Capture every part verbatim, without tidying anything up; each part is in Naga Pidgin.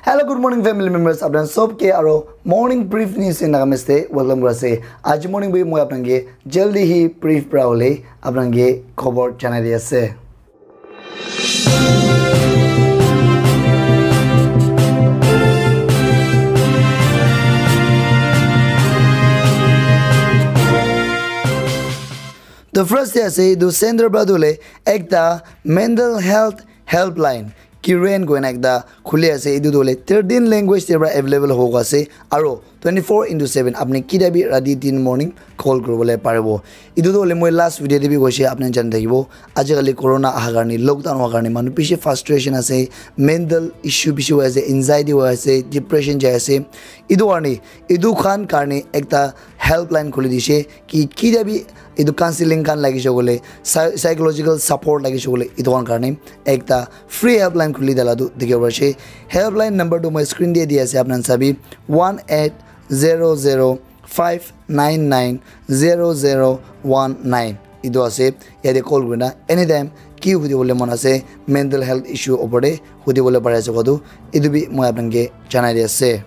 Hello, good morning, family members. Apnan sob ke aro morning brief news in Nagamese te welcome kura ase. Aji morning bhi moi apnan ke jaldi hi brief pra hole apnan ke khobor janai di ase. The first day ase, etu center pra tu hole ekta mental health helpline Kiren koina ekta khuli ase. Etu tu hole thirteen language te pra available hobo ase aro twenty-four into seven apni kida bi rati din morning call kuribole paribo. Etu tu hole moi last video te bi koise, apni jani thakibo. Ajikali corona aha karne, lockdown howa karne manu bishi frustration ase, mental issue bishi hoi ase, anxiety hoi ase, depression jai ase. Etu karne, etu khan karne ekta helpline khuli dishe ki kida bi etu counseling khan lagise koile, psy-, psychological support lagise koile, etu khan karne ekta free helpline khuli dala tu dikhibo pari ase. Helpline number tu moi screen te di ase, apnan sabi, one eight zero zero five nine nine zero zero one nine. Etu ase, yate call kurina anytime ki hudibole mon ase, mental health issue opor te hudibole pari ase kowa tu, etu bi moi apnan ke janai di ase.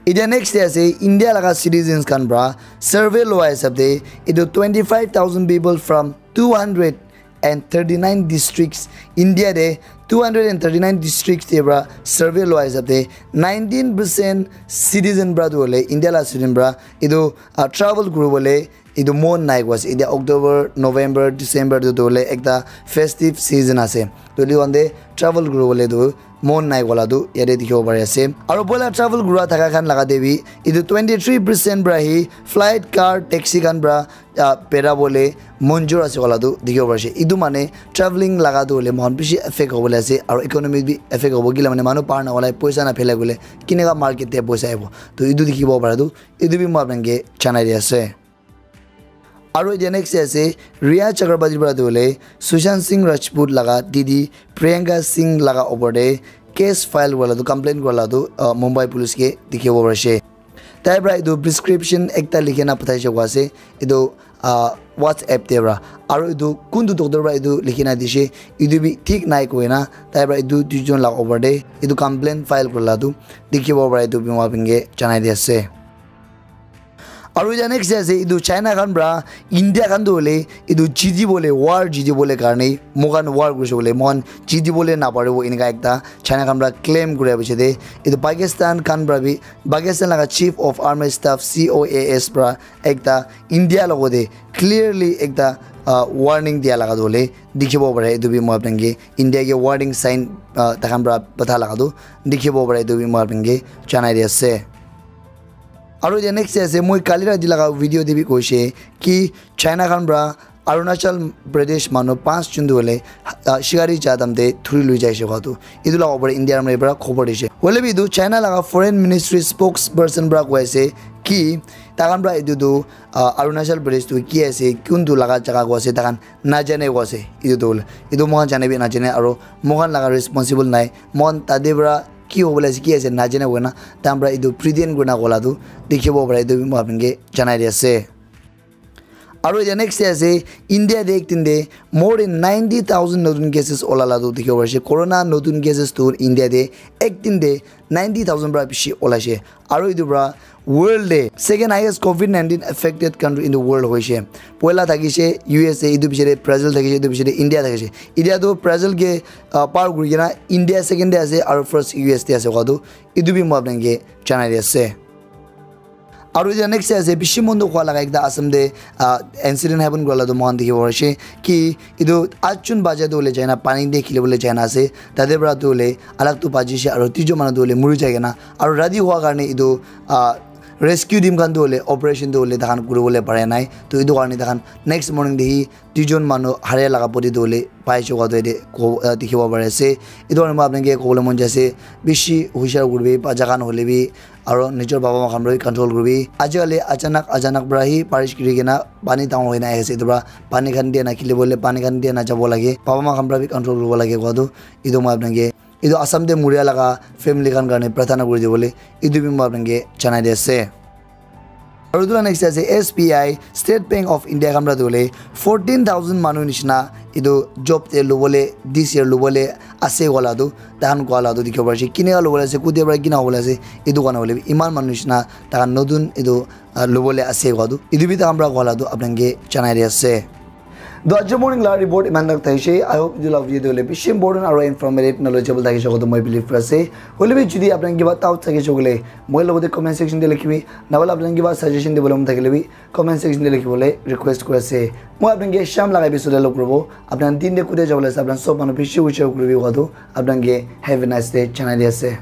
Etia next te ase, India laga citizens khan pra survey loa hisab te, etu twenty-five thousand people from two hundred and thirty-nine districts, India te two hundred and thirty-nine districts te pra survey loa hisab te, nineteen percent citizen pra tu hole, India la citizen pra etu, ah, travel kuribole etu mon nai kowa ase. Etia October, November, December tu, tu hole ekta festive season ase. To etu khan te travel kuribole tu mon nai kowa la tu yate dikhibo pari ase. Aro poila travel kura thaka khan laga te bi etu twenty-three percent pra hi flight, car, taxi khan pra, ah, bera bole monjur ase kowa la tu dikhibo pari ase. Etu mane traveling laga tu hole mohan bishi affect hobole ase aro economy bi affect hobo, kila mane manu bahar na olai, poisa na phelai koile kineka market te poisa ahibo. To etu dikhibo para tu, etu bi moi apnan ke janai di ase. Aro etia next te ase, Rhea Chakraborty pra tu hole Sushant Singh Rajput laga didi Priyanka Singh laga opor te case file kura la tu, complaint kura la tu, uh, Mumbai police ke dikhibo pari ase. Tai pra etu prescription ekta likhi na pathaise kowa ase, etu, uh, WhatsApp te pra. Aro etu kuntu doctor pra etu likhi na dishe, etu bi thik nai koina tai pra etu duijon laga opor te etu complaint file kura la tu dikhibo para etu bi moi apni ke janai di ase. Aro etia next te ase, etu China khan pra India khan tu hole etu jiti bole, war jiti bole karne, moikhan war kurise bole, moikhan jiti bole naparibo, eneka ekta China khan pra claim kura piche te, etu Pakistan khan pra bi, Pakistan laga Chief of Army Staff, C O A S, pra ekta India logote clearly ekta, ah, warning dia laga tu hole dikhibo pare. Etu bi moi apni ke India ke warning sign, ah, takhan pra patha laga tu dikhibo pare, etu bi moi apni ke janai di ase. Aro etia next te ase, moi kali rati laga video te bi koise ki China khan pra Arunachal Pradesh manu panch jun tu hole, ah, shikari ja time te thuri lui jaise kowa tu. Etu laga opor India army pra khobor dise. Hoile bi etu China laga foreign ministry spokesperson pra koi ase ki takhan pra etu tu, ah, Arunachal Pradesh tu ki ase, kuntu laga jaga kowa ase, takhan najane kowa ase. Etu tu hole, etu moikhan jane bi najane aro moikhan laga responsible nai. Moikhan tate pra ki hobole ase, ki ase najane koina, takhan pra etu pretend kurina kowa la tu dikhibo pare, etu bi moi apni ke janai di ase. Aro etia next te ase, India te ek din te more than ninety thousand notun cases ola la tu dikhibo pari ase. Corona notun cases tu India te ek din te ninety thousand pra bishi olaise. Aro etu pra world te second highest covid nineteen affected country in the world hoise. Poila thakise U S A, etu piche te Brazil thakise, etu piche te India thakise. Etia tu Brazil ke, ah, par kuri kena India second te ase aro first U S te ase kowa tu, etu bi moi apni ke janai di ase. Aro etia next te ase, bishi mon dukh hua laga ekta Assam te, ah, incident happen kura la tu moikhan dikhibo pari ase ki etu atjun bacha tu hole jaina pani te khilibole jaina ase, tate pra tu hole alag tu bachise aro duijon manu tu hole muri jai kena, aro rati hua karne etu, ah, rescue team khan tu hole operation tu hole takhan kuribole pare nai. To etu karne takhan next morning te hi duijon manu haria laga body tu hole pai chukha tu yate ko-, ah, dikhibo pari ase. Etu karne moi apni ke kobole mon jai ase, bishi hushar kuribi, bacha khan hole bi, aro nijor baba ma khan para bi control kuribi. Ajikali achanak, achanak para hi barish giri kena pani dangor hoina ahi ase. Etu para pani khan dia na khilibole, pani khan dia na jabo lage. Baba ma khan para bi control kuribo lage koa tu. Etu moi apni ke, etu Assam te muria laga family khan karne prarthana kuri dibole, etu bi moi apni ke janai di ase. Aru etu la next ase S B I, State Bank of India khan para tu hoile fourteen thousand manu nishina etu job te lobole this year lobole ase wala tu tahan koa la tu dikhibo pari ase. Kine ka lobole ase, kutia para kina hobole ase, etu karne hoile bi iman manu nishina tahan notun etu ah, lobole ase koa tu etu bi tahan para koa la tu apni khan ke janai di ase. To aji morning la report iman tak thaise. I hope etu la video tu hoile bishi important aru informative knowledgeable thakise koa tu moi believe kuri ase. Hoile bi jodi apni khan kiba doubt thakise koile moi logote comment section te likhibi, nahole apni khan kiba suggestion dibole mon thakile bi comment section te likhibole request kuri ase. Moi apni khan ke sham laga episode te log kuribo. Apni khan din te kutia jabole ase, apni khan sob manu bishi wish kuribi koa tu apni khan ke have a nice day janai di ase.